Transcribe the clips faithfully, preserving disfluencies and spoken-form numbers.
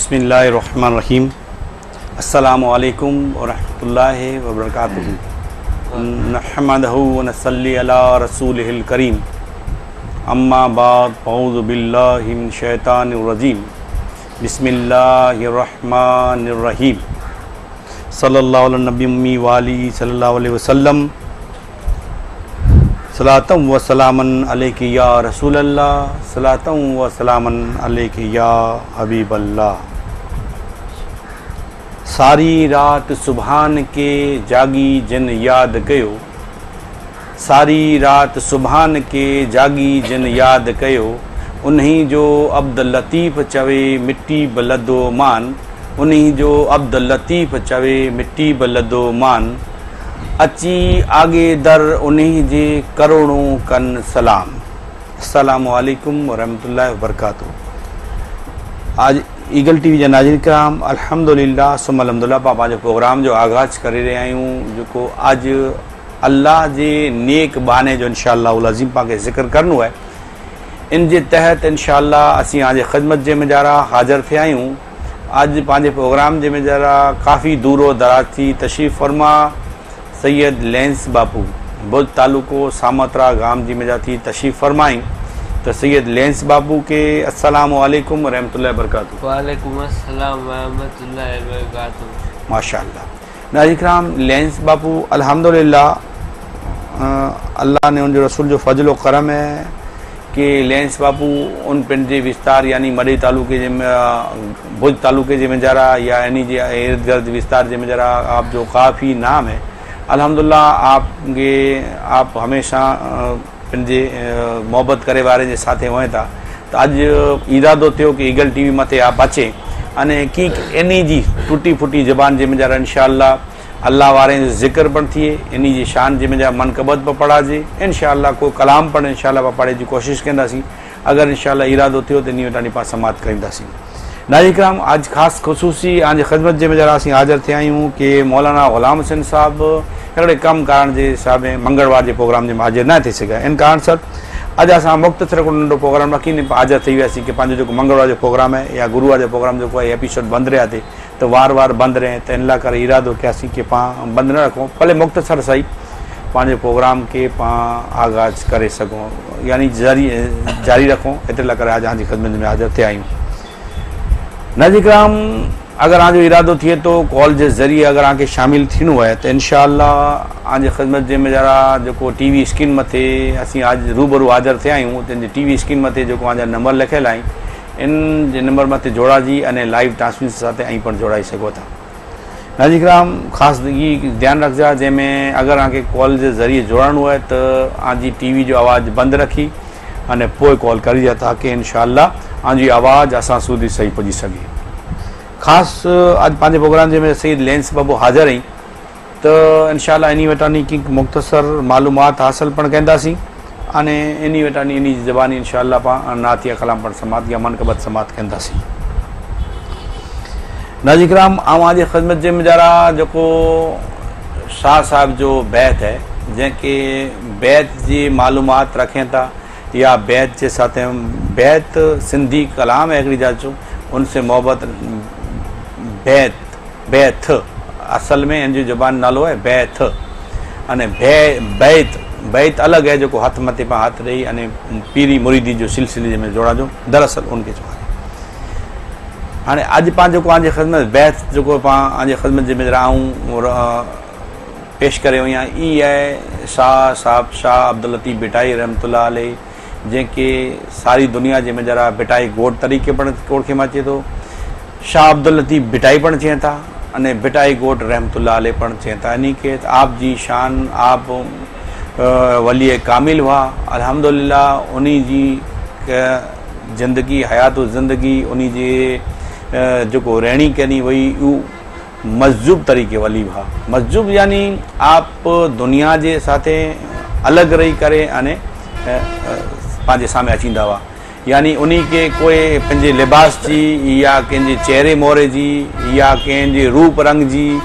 बिस्मिल्लाहिर्रहमानिर्रहीम। अस्सलामु अलैकुम व रहमतुल्लाहि व बरकातुहू। नहमदहु व नसल्ली अला रसूलिहिल करीम। अम्मा बाद, औज़ु बिल्लाहि मिन शैतानिर रजीम। बिस्मिल्लाहिर्रहमानिर्रहीम। सल्लल्लाहु अलैहि नबी उम्मी वाली सल्लल्लाहु अलैहि वसल्लम। सलातम व सलामन अलैकी या रसूल अल्लाह, सलातम व सलामन अलैकी या हबीब अल्लाह। सारी रात सुभान के जागी जिन याद कयो, सारी रात सुभान के जागी जिन याद कयो, उन्हीं जो अब्द लतीफ़ चवे मिट्टी बलदो मान, उन्हीं जो अब्द लतीफ़ चवे मिट्टी बलदो मान। अची आगे दर उन्हीं जे करोड़ों कन सलाम। अस्सलामु अलैकुम व रहमतुल्लाहि व बरकातुहू। आज ईगल टीवी जा नाज़रीन कराम, अल्हम्दुलिल्लाह सुम अल्हम्दुलिल्लाह पा पंहिंजो प्रोग्राम जो आगाज़ करे रहिया आहियूं, जेको अॼु अल्लाह जे नेक बहाने जो इंशाअल्लाह अज़ीम पाण खे ज़िक्र करिणो आहे। इन जे तहत इंशाअल्लाह असीं अॼु ख़िदमत जे मजारा हाज़िर थिया आहियूं। अॼु पंहिंजे प्रोग्राम जे मजारा काफ़ी दूरो दराज़ थी तशरीफ़ फरमा सैयद लेंस बापू बुध तालुको सामतरा गाम जी मजा थी तशरीफ़ फरमाई। तो सैयद लेंस बापू के अस्सलामु अलैकुम व रहमतुल्लाहि व बरकातुहू। वालेकुम अस्सलाम व रहमतुल्लाहि व बरकातुहू। माशाअल्लाह। नाज़रीन कराम, लेंस बापू अल्हम्दुलिल्लाह अल्लाह ने उनजो रसूल जो फज़ल व करम है कि लेंस बापू उन पंहिंजे विस्तार यानी मड़ई तालुके जे भुज तालुके जे मजारा या इन जे इर्द गिर्द विस्तार जे मजारा आप जो काफ़ी नाम है। अल्हम्दुलिल्लाह आपके आप हमेशा पंहिंजे मोहबत करे वारे जे साथे हुए था। त अॼु इरादो थियो कि ईगल टीवी मथे आप अचे अने की इन जी टुटी फुटी ज़बान जे मजारा इंशाअल्लाह अल्लाह वारे जो ज़िक्र पण थिए, इन जी शान जे मजा मनकबत बि पढ़ाजे इंशाअल्लाह, को कलाम पण इंशाअल्लाह पढ़े जी कोशिश कंदासीं। अगरि इंशाअल्लाह इरादो थियो त इन वटां पाण समाप्त करींदासीं। नाज़रीन कराम, अॼु ख़ासि ख़ुसूसी अॼु ख़िदमत जे मजारा असीं हाज़िर थिया आहियूं कि मौलाना ग़ुलाम हुसैन साहब हिकिड़े कमु कारण जे हिसाब में मंगलवार जे प्रोग्राम जे हाज़िर न थी सघिया। इन कारण सर अॼु असां मुख़्तसिर हिकिड़ो नंढो प्रोग्राम रखी हाज़िर थी वियासीं कि पंहिंजो जेको मंगलवार जो प्रोग्राम आहे या गुरूवार जो प्रोग्राम जेको आहे एपिसोड बंदि रहिया ते त वार वार बंदि रहे, त इन लाइ करे इरादो कयासीं कि पाण बंदि न रखूं, भले मुख़्तसिर सही पंहिंजे प्रोग्राम खे पाण आगाज़ करे सघूं, यानी जारी जारी रखूं। एतिरे लाइ करे अॼु असांजी ख़िदमत में हाज़िर थिया आहियूं। नाज़रीन कराम, अगरि असांजो इरादो थिए थो कॉल जे ज़रिए अगरि असांखे शामिल थियणो आहे त इंशाअल्लाह असांजी ख़िदमत जे मजारा जेको टीवी स्क्रीन मथे असीं अॼु रूबरू हाज़िर थिया आहियूं, तंहिंजी टीवी स्क्रीन मथे जेको असांजा नंबर लिखियलु आहिनि, इन जे नंबर मथे जोड़ाजी अने लाइव ट्रांसमिशन सां ऐं पणु जोड़ाई सघो था। नाज़रीन कराम, ख़ासि ई ध्यानु रखिजो, जंहिंमें अगरि असांखे कॉल जे ज़रिए जोड़णो आहे त असांजी टीवी जो आवाज़ बंदि रखी अने पोइ कॉल करिजो ताकि इंशाअल्लाह असांजी आवाज़ असां सुधी सही पुॼी सघे। ख़ासि अॼु पंहिंजे प्रोग्राम जंहिंमें सैयद लेंस बाबू हाज़िर आहीं त इंशाअल्लाह इन वटां की मुख़्तसर मालूमात हासिल पणु कंदासीं अने इन वटां इन जी ज़बानी इंशाअल्लाह पाण नातिया कलाम पणु समाप्त या मनकबत समाप्त कंदासीं। नाज़रीन कराम, अव्हां ख़िदमत जे मजारा जेको शाह साहिब जो बैत आहे, जंहिंखे बैत जी मालूमात रखें था या बैत जे साथ बैत सिंधी कलाम है हिकिड़ी जाचो, उनसे मोहबत बैत बैथ असल में इन जो ज़बान नालो आहे बैथ अने भे बैत बैत अलॻि आहे जेको हथु मथे पाण हथु ॾेई अने पीरी मुरीदी जो सिलसिले में जोड़ा जो दरअसल उनखे चओ आहे। हाणे अॼु पाण जेको असांजी ख़िदमत बैत जेको पाण असांजी ख़िदमत जे आऊं पेश करे वई आहियाँ, ई आहे शाह साहिब शाह अब्दुल लतीफ़ भिटाई रहमतुल्लाह अलैह, जंहिंखे सारी दुनिया जे मजारा भिटाई घोट तरीक़े पणु ओळखे में अचे थो, शाह अब्दुल लतीफ़ भिटाई पणु चए था अने भिटाई घोट रहमतुल्लाह अलैह पणु चए था। यानी कि आप जी शान आप वली कामिल हुआ। अल्हम्दुलिल्लाह उन्हीं जी ज़िंदगी हयात ज़िंदगी उन्हीं जे जेको रहणी करणी हुई उहो मज़ूब तरीक़े वली हुआ। मज़ूब यानी आप दुनिया जे साथे अलॻि रही करे अने पंहिंजे साम्हूं अची ईंदा हुआ, यानी उन्हीं खे कोई पंहिंजे लिबास जी या कंहिंजे चेहरे मोहरे जी या कंहिंजे रूप रंग जी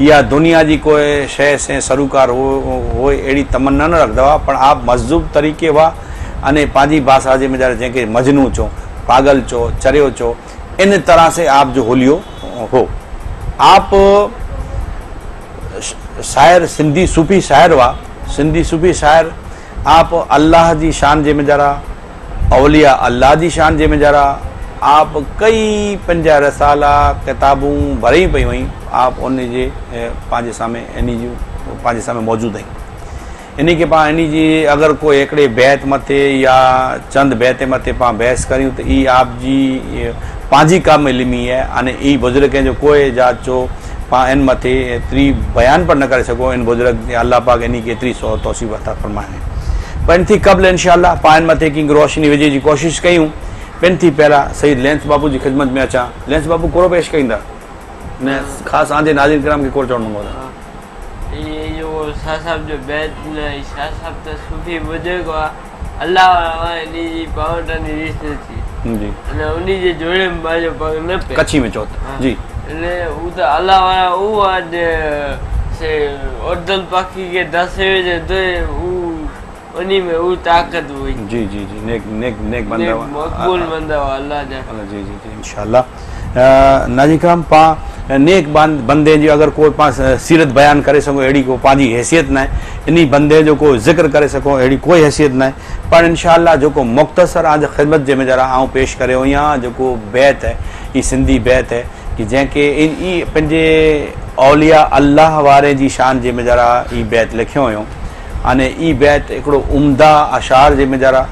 या दुनिया जी कोई शइ से सरोकार हो हो अहिड़ी तमन्ना न रखंदा हुआ, पर आप मज़ूब तरीक़े हुआ अने पंहिंजी भाषा जे मजारे जंहिंखे मजनू चओ, पागल चओ, चरियो चओ, इन तरह से आप जो हुलियो हो। आप शायर सिंधी सूफ़ी शायर हुआ, सिंधी सूफ़ी शायर आप अल्लाह जी शान जे में जरा, औलिया अल्लाह जी शान जे में जरा, आप कई पंहिंजा रसाला किताबूं भरी पई हुई, आप उन जे पंहिंजे साम्हूं इन जूं पंहिंजे साम्हूं मौजूदु आहिनि। इन खे पाण इन जी अगरि को हिकिड़े बैत मथे या चंद बैत मथे पाण बहस करियूं त ई आप जी पंहिंजी कम इल्मी आहे अने ई बुज़ुर्ग जो कोई जाचो पाण इन मथे एतिरी बयानु पर न करे सघूं। इन बुज़ुर्ग अल्लाह पाक इन खे एतिरी तौसीफ़ अता फरमाए। पर इन थी क़बल इंशाअल्लाह पाण इन मथे की रोशनी विझे जी कोशिशि कयूं। पिन थी पहिरां सईद लेंस बाबू जी ख़िदमत में अचां। लेंस बाबू कोरो पेश कईंदा ने ख़ासि आंजे नाज़िर कराम खे कोरो चवणो हूंदो आहे। इहो शाह साहिब जो बैत न, शाह साहिब त सूफ़ी बुज़ुर्ग हुआ, अल्लाह वारा इन जी पावटनि रीस न थी जी, अने उन जे जोड़े में पंहिंजो पग न पियो। कच्छी में चओ जी, अने हू त अल्लाह वारा उहो आहे से उर्दल पाखी खे दसे जे त हू उन्हीं में वो ताकत हुई। जी जी जी, नेक नेक नेक बंदा हुआ, मकबूल बंदा हुआ अल्लाह जा। अल्लाह जी जी जी इंशाअल्लाह। नाज़िर कराम पा नेक बंदे जी अगरि को पा सीरत बयान करे सघूं अहिड़ी को पंहिंजी हैसियत न आहे, इन बंदे जो को ज़िक्र करे सघूं अहिड़ी कोई हैसियत न आहे। पर इंशाअल्लाह जेको मुख़्तसर आज ख़िदमत जे में ज़रा आउं पेश करे आहियां जेको बैत आहे, हीअ सिंधी बैत आहे कि जंहिंखे इन ई पंहिंजे औलिया अल्लाह वारे जी शान जे में ज़रा ई बैत लिखियो हुयो। अने ई बैत हिकिड़ो उम्दा अशार जे में ज़रा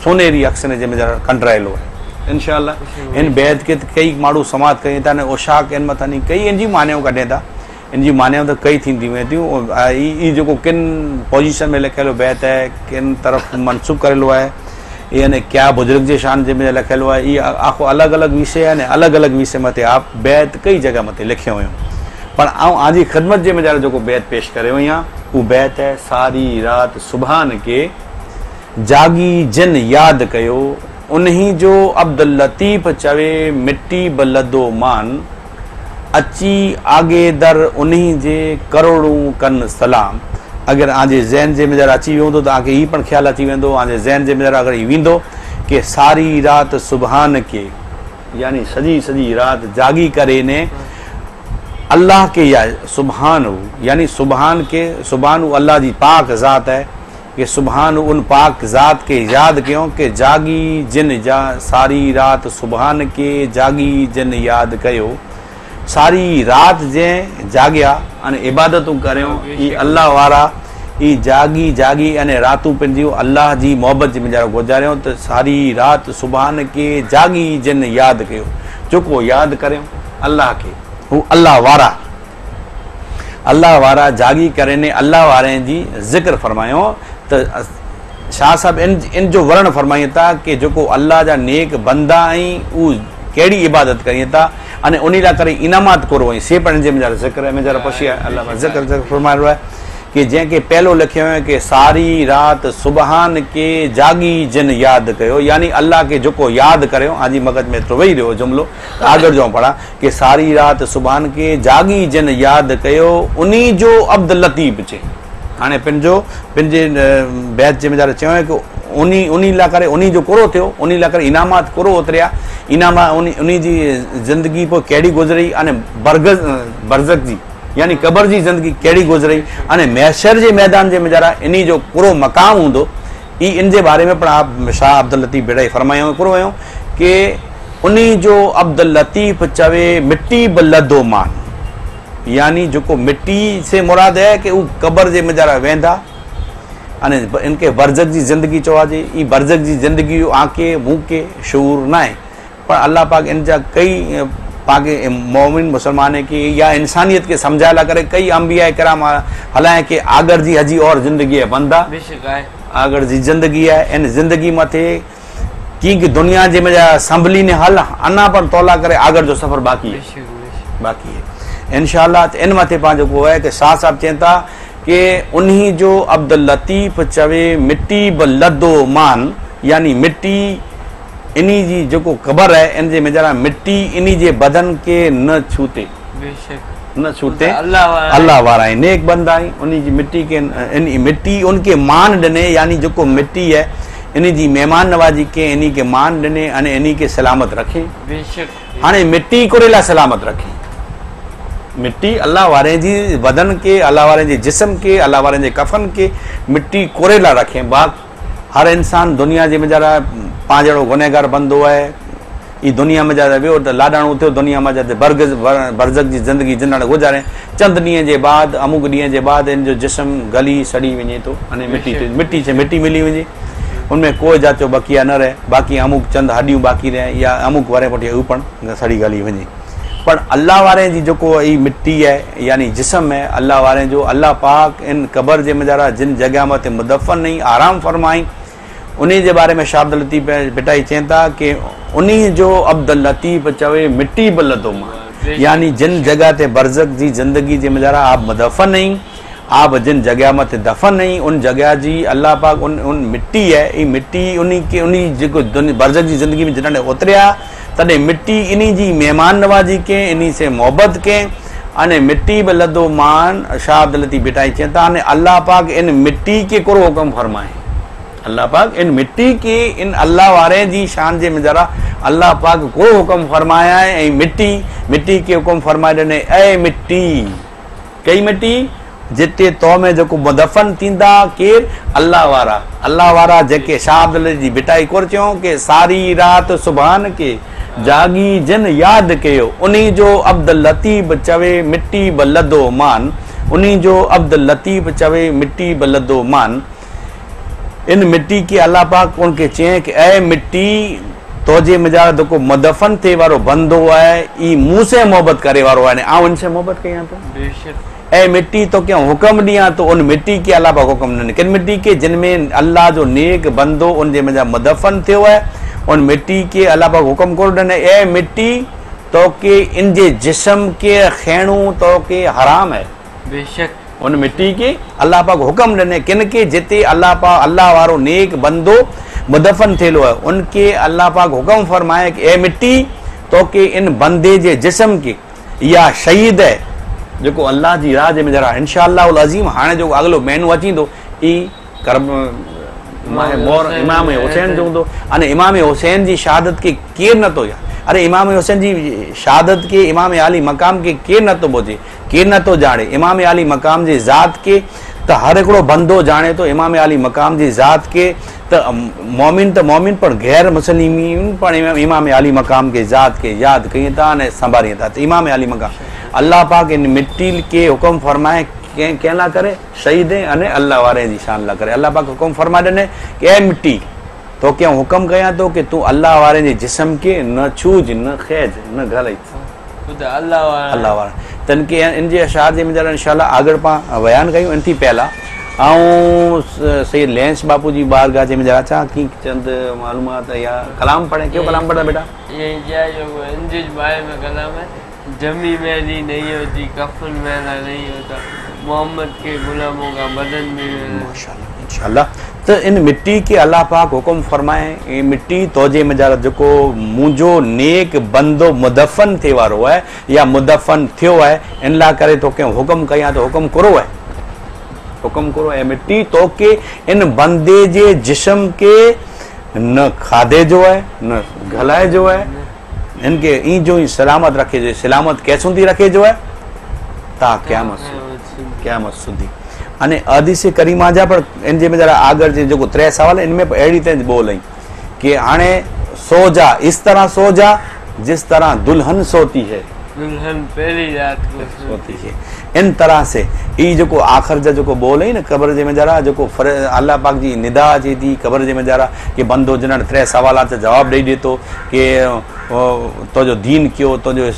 सोनेरी अक्सर जे में ज़रा कंडराइलो आहे। इंशाअल्लाह इन बैत खे कई माण्हू समात कयूं था, उशाक इन मथां कई इन जी मान्याऊं कढे था, इन जी मान्याऊं त कई थींदी वेंदियूं। ई जेको किन पोज़ीशन में लिखियलु बैत आहे, किन तरफ़ मनसूब करेलो आहे, यानी क्या बुज़ुर्ग जे शान जे में लिखियलु आहे, इहो आखो अलॻि अलॻि विषय आहे। अलॻि अलॻि विषय मथे आप बैत कई जॻह मथे लिखियो हुयो। पर आउं आजी ख़िदमत जे में जेको बैत पेश करे आहियां उहो बैत है सारी रात सुभान के जागी जिन याद कयो, उन्हीं जो अब्दुल लतीफ़ चवे मिट्टी बलदो मान, अची आगे दर उन्हीं जे करोड़ूं कन सलाम। अगरि आंजे ज़हन जे में ज़रा अची वियो हूंदो त तव्हांखे हीउ पिणु ख़्यालु अची वेंदो, आंजे ज़हन जे में ज़रा अगरि वेंदो कि सारी रात सुभान के यानी सॼी सॼी रात जागी करे ने अल्लाह के या सुभान हो, यानी सुभान के सुभान अल्लाह जी पाक ज़ात है कि सुभान उन पाक ज़ात के याद कयो कि जागी जिन जा सारी रात सुभान के जागी जिन याद कयो, सारी रात जंहिं जाॻिया अने इबादतूं करियो ई अल्लाह वारा ई जागी जागी अने रातूं पंहिंजियूं अल्लाह जी मोहबत जे में गुज़ारियो त सारी रात सुभान के जागी जिन याद कयो, जेको यादि करियो अल्लाह खे हू अल्लाह वारा अल्लाह वारा जागी करे ने अल्लाह वारे जी ज़िक्र फरमायो। त शाह साहब इन इन जो वर्ण फरमाइनि था कि जेको अल्लाह जा नेक बंदा आहिनि उहो कहिड़ी इबादत करिनि था अने उन लाइ करे इनामात कोरो आहिनि से पिणु जंहिं में ज़िक्र में ज़रा पछी अल्लाह ज़िक्र ज़िक्र फरमायो आहे कि जंहिंखे पहिलो लिखियो आहे कि सारी रात सुभान के जागी जिन याद कयो, यानी अल्लाह खे जेको यादि करियो। आजी मगज में एतिरो वेही रहियो जुमिलो आगरि जो पढ़ा कि सारी रात सुभान के जागी जिन याद कयो उन्हीं जो अब्दुल लतीफ़ चे। हाणे पंहिंजो पंहिंजे बैत जे में ज़रा चयो आहे कि उन्हीं उन्हीं लाइ करे उन्हीं जो कोरो थियो, उन्हीं लाइ करे इनामात कोरो उतरिया, इनामा उन उन्हीं जी ज़िंदगी पोइ कहिड़ी गुज़री अने बरगज़ बरज़क जी यानी क़बर जी ज़िंदगी कहिड़ी गुज़री अने महशर जे मैदान जे में ज़रा इन्हीं जो कोरो मक़ाम हूंदो ई इन जे बारे में पिणु आप शाह अब्दुल लतीफ़ भिड़ाई फरमायो कोरो हुयो कि उन्हीं जो अब्दुल लतीफ़ चवे मिट्टी बि लधो मान, यानी जेको मिट्टी से मुराद है कि उहो क़बर जे में ज़रा वेंदा अने इनखे बरज़क जी ज़िंदगी चवाजे। ई बरज़क जी ज़िंदगी जो आंखे मूंखे शऊर न आहे, पर अल्लाह पाक इन जा कई पाक मोमिन मुसलमान खे या इंसानियत खे सम्झाए लाइ करे कई अंबिया कराम हलाए कि आगर जी हजी और ज़िंदगी आहे बंदा आगर जी ज़िंदगी आहे, इन ज़िंदगी मथे की की दुनिया जे में संभली ने हल अना पर तोला करे आगर जो सफ़र बाक़ी है बाक़ी है इंशाअल्लाह। त इन मथे पंहिंजो को आहे कि शाह साहिब चनि था कि उन्हीं जो अब्दुल लतीफ़ चवे मिट्टी बि लधो मान, यानी मिट्टी इन्हीं जी जेको क़बर आहे इन जे में ज़रा मिट्टी इन्हीं जे बदन खे न छूते न छूते अल्लाह वारा आहिनि नेक बंदा आहिनि उन्हीं जी मिट्टी खे इन मिट्टी उनखे मान ॾिने, यानी जेको मिट्टी आहे इन जी मेहमान नवाज़ी के इन्हीं के मान ॾिने अने इन्हीं के सलामत रखे। बेशक हाणे मिट्टी कोरे लाइ सलामत रखे। मिट्टी अल्लाह वारे जी बदन के, अल्लाह वारे जे जिस्म के, अल्लाह वारे जे कफन के मिट्टी कोरे लाइ रखे। बाक़ी हर इंसान दुनिया जे में पाण जहिड़ो गुनहगार बंदो आहे, ई दुनिया में जॾहिं वियो त लाॾाणो थियो, दुनिया में जॾहिं बरगज़ बरज़क जी ज़िंदगी जिंदण गुज़ारे, चंद ॾींहं जे बाद अमुक ॾींहं जे बाद इन जो जिस्म गली सड़ी वञे थो अने मिट्टी मिट्टी से मिट्टी मिली वञे, उनमें कोई जात जो बकिया न रहे, बाक़ी अमुक चंद हॾियूं बाक़ी रहे या अमुक वरे पुठियां उहो पिणु सड़ी गली वञे। पर अल्लाह वारे जी जेको ई मिट्टी आहे यानी जिस्म आहे अल्लाह वारे जो, अल्लाह पाक इन क़बर जे मजारा जिन जॻह मथे मुदफ़न नहीं आराम फरमाई, उन जे बारे में शाह अब्दुल लतीफ़ भिटाई चवन था कि उन जो अब्दुल लतीफ़ चवे मिट्टी बि लधो मां, यानी जिन जॻह ते बरज़क जी ज़िंदगी जे मजारा आप मुदफ़न नहीं, आप जिन जॻह मथे दफ़न नहीं, उन जॻह जी अल्लाह पाक उन उन मिट्टी आहे, ई मिट्टी उन खे उन जेको बरज़क जी ज़िंदगी में जॾहिं उतरिया तॾहिं मिट्टी इन जी मेहमान नवाज़ी के, इन से मोहबत के अने मिट्टी बि लधो मान। शाह अब्दुल लतीफ़ भिटाई चवन था अने अल्लाह पाक इन मिट्टी खे कोरो हुकुम फरमाए, अल्लाह पाक इन मिट्टी के इन अल्लाह वारे जी शान जे मजारा अल्लाह पाक को हुकुम फरमाया है। ऐं मिट्टी मिट्टी खे हुकुम फरमाए ॾिने, ऐ मिट्टी कई मिट्टी जिते तो में जेको मुदफ़न थींदा केरु अल्लाह वारा, अल्लाह वारा जेके शाह अब्दुल जी भिटाई कोर चयो कि सारी रात सुभान के जागी जिन याद कयो, उन जो अब्दुल लतीफ़ चवे मिट्टी बि लधो मान, उन जो अब्दुल लतीफ़ चवे मिट्टी बि लधो मान। इन मिट्टी के अल्लाह पाक उनखे चयईं कि ऐ मिट्टी तोजे मजारा जेको मुदफ़न थिए वारो बंदो आहे ई मूं सां मोहबत करे वारो आहे, आउं इन सां मोहबत कयां थो। ऐ मिट्टी तोखे हुकुम ॾियां थो, उन मिट्टी खे अल्लाह पाक हुकुम ॾिनो। किन मिट्टी खे? जिन में अल्लाह जो नेक बंदो उन जे मजां मुदफ़न थियो आहे, उन मिट्टी खे अल्लाह पाक हुकुम कोन ॾिनो, ऐ मिट्टी तोखे इन जे जिस्म खे खणो तोखे हराम आहे। बेशक उन मिट्टी खे अल्लाह पाक हुकुम ॾिने किन खे? जिते अल्लाह पाक अल्लाह वारो नेक बंदो मुदफ़न थियलो आहे उनखे अल्लाह पाक हुकुम फरमाए कि ऐ मिट्टी तोखे इन बंदे जे जिस्म खे या शहीद आहे जेको अल्लाह जी राह जे में इंशा अज़ीम हाणे जेको अॻिलो महीनो अची ईंदो ई करब मोर इमाम हुसैन जो हूंदो। अने इमाम हुसैन जी शहादत खे केरु नथो यादि, अरे इमाम हुसैन जी शहादत खे इमाम आली मक़ाम खे केरु नथो ॿुधे, केरु नथो ॼाणे। इमाम आली मक़ाम जी ज़ात खे त हर हिकिड़ो बंदो ॼाणे थो, इमाम आली मक़ाम जी ज़ात खे त मोमिन त मोमिन पर गैर मुस्लिम पण इमाम आली मक़ाम खे ज़ात खे यादि कयूं था अने संभालीनि था। त इमाम आली मक़ाम अल्लाह पाक इन मिट्टी खे हुकुम फरमाए कंहिं कंहिं लाइ करे? शहीद अने अल्लाह वारे जी शान लाइ करे। अल्लाह पाक हुकुम फरमाए ॾिने कि ऐ मिट्टी तोखे आउं हुकुम कयां थो कि तूं अल्लाह वारे जे जिस्म खे न छूज, न ख़ैज, न ॻाल्हाइज, अल्लाह वारा। त इन खे इन जे अशार जे मुंहिंजा इंशा आगळ पाण बयानु कयूं। इन थी पहिला ऐं सैयद लेंस बापू जी बारगाह जे मुंहिंजा अचां की चंद मालूमात या कलाम पढ़े। क्यों कलाम पढ़ा बेटा? ये क्या जो इन जे बारे में कलाम है, जमी मैली नहीं होती, कफन मैला नहीं होता, मोहम्मद के गुलामों का बदन भी माशाअल्लाह इंशाअल्लाह। त इन मिट्टी खे अल्लाह पाक हुकुम फरमाए, ए मिट्टी तोजे मजारा जेको मुंहिंजो नेक बंदो मुदफ़न थिए वारो आहे या मुदफ़न थियो आहे, इन लाइ करे तोखे हुकुम कयां थो, हुकुम करो आहे, हुकुम करो ऐ मिट्टी तोखे इन बंदे जे जिस्म खे न खाधे जो आहे न ॻाल्हाए जो आहे, इनखे ई जो ई सलामत रखे जो, सलामत कैसुं थी रखे जो आहे ता क़यामत क़यामत सुधी। अने हदीस करीमा जा पर इन जे में ज़रा आगळ जे जेको टे सवाल इन में अहिड़ी तरह ॿोल आई कि हाणे सो जा, इस तरह सो जा जिस तरह दुल्हन सोती है, दुल्हन पहली रात को सोती है। इन तरह से ई जेको आख़िर जा जेको ॿोल आई न क़बर जे में ज़रा जेको अल्लाह पाक जी निदा अचे थी क़बर जे में ज़रा कि बंदो जिन टे सवाल जा जवाबु ॾेई ॾिए थो कि तुंहिंजो दीन कहिड़ो, तुंहिंजो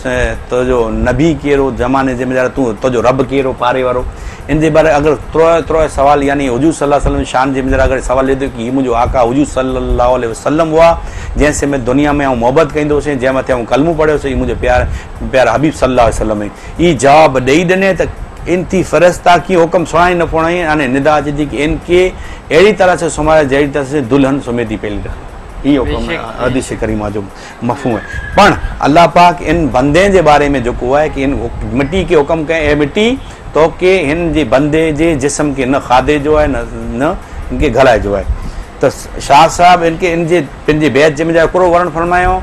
तुंहिंजो नबी कहिड़ो, ज़माने जे में ज़रा तूं तुंहिंजो रब कहिड़ो पारे वारो। इन जे बारे अगरि त्रो त्रो सवाल यानी हुजूर सल्लल्लाहु अलैहि वसल्लम शान जे में ज़रा अगरि सवाल ॾिए थो कि हीउ मुंहिंजो आका हुजूर सल्लल्लाहु अलैहि वसल्लम हुआ जंहिं से में दुनिया में आउं मोहबत कंदो हुउसि, जंहिं मथे आउं कलमो पढ़ियोसीं, हीउ मुंहिंजो प्यार प्यारा हबीब सल्लल्लाहु अलैहि वसल्लम। ई जवाबु ॾेई ॾिने त इन थी फ़रिश्ता की हुकुम सुणाई न पुणाई अने निदा अचे थी कि इनखे अहिड़ी तरह से सुम्हारे जहिड़ी तरह से दुल्हन सुम्हे थी पहली राति। इहो हुकुम हदीस करीमा जो मफ़हूम आहे। पण अल्लाह पाक इन बंदे जे बारे में जेको आहे कि इन मिट्टी खे हुकुम कयो, ए मिट्टी तोखे हिन जे बंदे जे जिस्म खे न खाधे जो आहे न न इनखे ॻाल्हाए जो आहे। त शाह साहब इनखे इन जे पंहिंजे बैत जे मुंहिंजा हिकिड़ो वर्ण फरमायो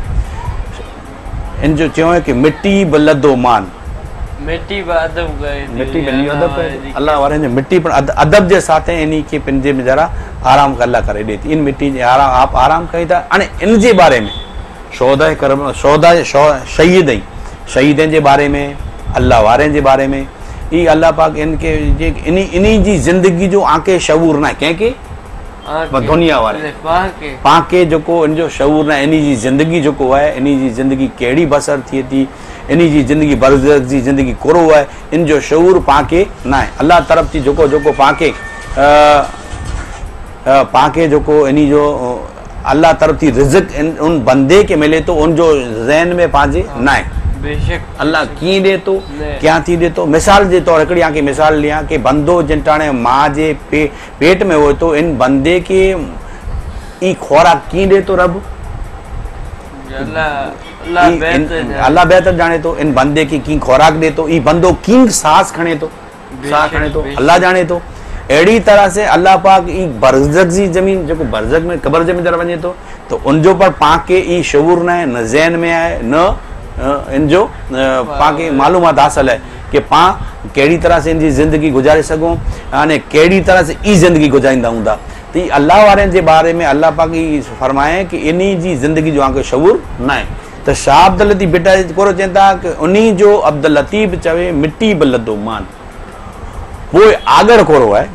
इन जो चयो की मिट्टी बि लधो मान मिट्टी बि अदब करे मिट्टी बि अदब करे अलाह वारनि जो मिट्टी पण अदब जे साथ इन खे पंहिंजे में ज़रा आराम अलाह करे ॾिए थी इन मिट्टी जे आराम आप आराम कई था। हाणे इन जे बारे में शौदा करम शौदा शहीद शहीदनि जे बारे में अलाह वारनि जे बारे में ई अलाह पाक इनखे जे इन इन जी ज़िंदगी जो आंखे शऊर न आहे कंहिंखे दुनिया वारे पाण खे जेको इन जो शऊर न आहे इन जी ज़िंदगी जेको आहे इन जी ज़िंदगी कहिड़ी बसर थिए थी इन जी ज़िंदगी बरज़ख जी ज़िंदगी कोरो आहे इन जो शऊर पाण खे न आहे। अलाह तरफ़ थी जेको जेको पाण खे पाण खे जेको इन जो अलाह तरफ़ थी रिज़्क उन बंदे खे मिले थो उन जो ज़हन में पंहिंजे न आहे। बेशक अलाह कीअं ॾिए थो क्यां थी ॾिए थो। मिसाल जे तौर हिकिड़ी तव्हांखे मिसाल ॾियां की बंदो जिन टाणे माउ जे पे, पेट में हुए थो इन बंदे खे ई ख़ुराक कीअं ॾिए थो रब अलाह बहितर ॼाणे थो इन बंदे खे कीअं ख़ुराक ॾिए थो ई बंदो कीअं सांस खणे थो साह खणे थो अलाह ॼाणे थो। अहिड़ी तरह से अलाह पाक ई बरज़ख जी ज़मीन जेको बरज़ख में क़बर जे अंदरि वञे थो त उनजो पर पाण खे ई शऊर न आहे न ज़हन में आहे न इन जो पाण खे मालूमात हासिल आहे की पाण कहिड़ी तरह से इन जी ज़िंदगी गुज़ारे सघूं हाणे कहिड़ी तरह से ई ज़िंदगी गुज़ारींदा हूंदा। त ई अलाह वारनि जे बारे में अलाह पाक ई फरमाए की इन जी ज़िंदगी जो तव्हांखे शऊर न आहे। त शाह अब्दुल लतीफ़ भिटाई कोरो चवनि था की उन जो अब्दुल लतीफ़ चवे मिट्टी बि लधो मान पोइ आगड़ कोरो आहे।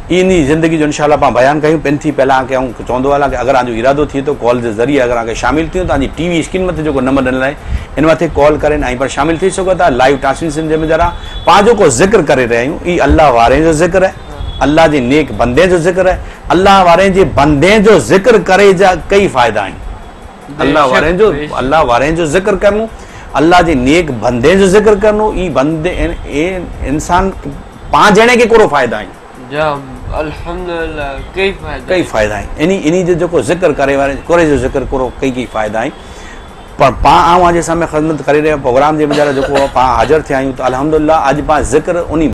इन ज़िंदगी जो इनशा पाण बयानु कयूं। पिन थी पहिला खे आउं चवंदो हलां की अगरि तव्हांजो इरादो थिए थो कॉल जे ज़रिए अगरि तव्हांखे शामिल थियूं तव्हांजी टीवी स्क्रीन मथे जेको नंबर ॾिनल आहे इन मथे कॉल करे ऐं पर शामिल थी सघो था। लाइव ट्रांसमिशन जे ज़रा पाण जेको ज़िक्र करे रहिया आहियूं इहो अलाह वारे जो ज़िक्र आहे अलाह जे नेक बंदे जो ज़िक्र आहे। अलाह वारे जे बंदे जो ज़िक्र करे जा कई फ़ाइदा आहिनि। अलाह वारे जो अलाह वारे जो ज़िक्र करणो अलाह जे नेक बंदे जो ज़िक्र करणो ई बंदे इंसान पाण ॼणे खे कोरो फ़ाइदा आहिनि अल्हम्दुलिल्लाह कई फ़ाइदा कई फ़ाइदा आहिनि। इन इन जो जेको ज़िक्र करे वारे कोरे जो ज़िक्र कोरो कई कई फ़ाइदा आहिनि। पर पाण आउं अॼु साम्हूं ख़िदमत करे रहियो प्रोग्राम जे मुंहिंजा जेको पाण हाज़िर थिया आहियूं त अल्हम्दुलिल्लाह अॼु पाण ज़िक्र उन